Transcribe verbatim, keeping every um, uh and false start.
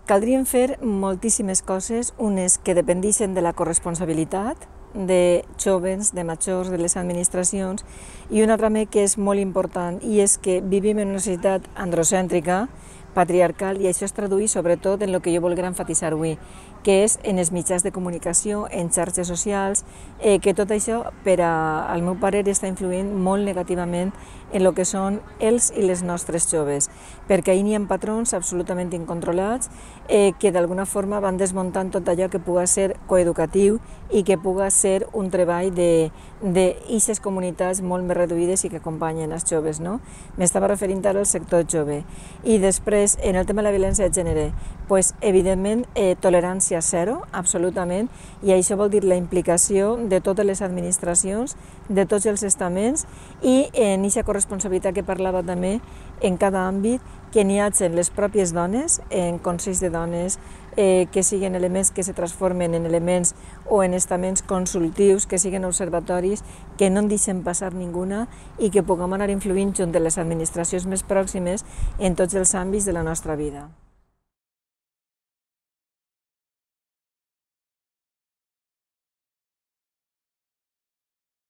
Caldrien fer moltíssimes coses, unes que dependixen de la corresponsabilitat de joves, de majors, de les administracions, i una altra més que és molt important, i és que vivim en una societat androcèntrica, patriarcal, i això es tradueix sobretot en el que jo voldria emfatitzar avui, que és en els mitjans de comunicació, en xarxes socials, eh, que tot això, per a, al meu parer, està influint molt negativament en el que són els i les nostres joves, perquè ahir n'hi ha patrons absolutament incontrolats eh, que d'alguna forma van desmuntant tot allò que pugui ser coeducatiu i que pugui ser un treball d'eixes comunitats molt més reduïdes i que acompanyen els joves. No? M'estava referint ara al sector jove. I després, en el tema de la violència de gènere, pues, evidentment, eh, tolerància zero, absolutament, i això vol dir la implicació de totes les administracions, de tots els estaments, i en aquesta corresponsabilitat que parlava també en cada àmbit, que n'hi hagin les pròpies dones, en consells de dones, eh, que siguin elements que se transformen en elements o en estaments consultius, que siguin observatoris, que no en deixen passar ninguna i que puguem anar influint junt de les administracions més pròximes en tots els àmbits de la nostra vida.